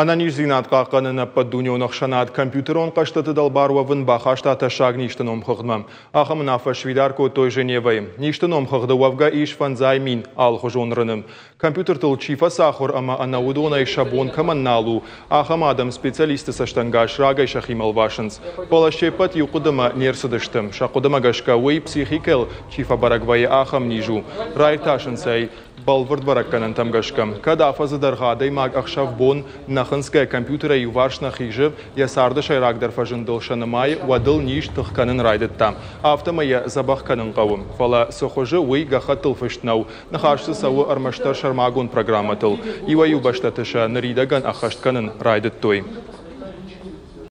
Ӕнӕниздзинад хъахъхъӕныны ӕппӕтдунеон ӕхсӕнад компьютерон хъӕзтыты дӕлбар уӕвын бахаста тӕссаг низты номхыгъдмӕ. Ахӕм уынаффӕ сфидар кодтой Женевӕйы. Низты номхыгъды уӕвгӕ ис 5000 алыхуызон рыны. Компьютертыл чи фӕцахуыр ӕмӕ ӕнӕ уыдонӕй сӕ бон кӕмӕн нал у, ахӕм адӕм специалистты цӕстӕнгас рагӕй сӕхимӕ ӕлвасынц. Фӕлӕ се ппӕт иу хъуыдымӕ не рцыдысты. Сӕ хъуыдымӕ гӕсгӕ уый психикӕйыл чи фӕбӕрӕг вӕййы, ахӕм низ у. Раиртасынц ӕй бӕлвырд бӕрӕггӕнӕнтӕм гӕсгӕ, кӕд афӕдзы дӕргъы адӕймаг ӕхсӕв-бон нӕ хынцгӕ компьютерӕй иуварс нӕ хизы, йӕ царды сӕйрагдӕр фӕзындыл сӕ нымайы, уӕд ыл низ тых кӕнын райдыдта. Афтӕмӕй йӕ дзӕбӕх кӕнын хъӕуы. Фӕлӕ цы хуызы, уый гӕххӕттыл фыст нӕу. Ныхас дзы цӕуы ӕрмӕстдӕр сӕрмагонд программӕтыл. Иуӕй-иу бӕстӕты сӕ ныридӕгӕн ӕххӕст кӕнын райдыдтой.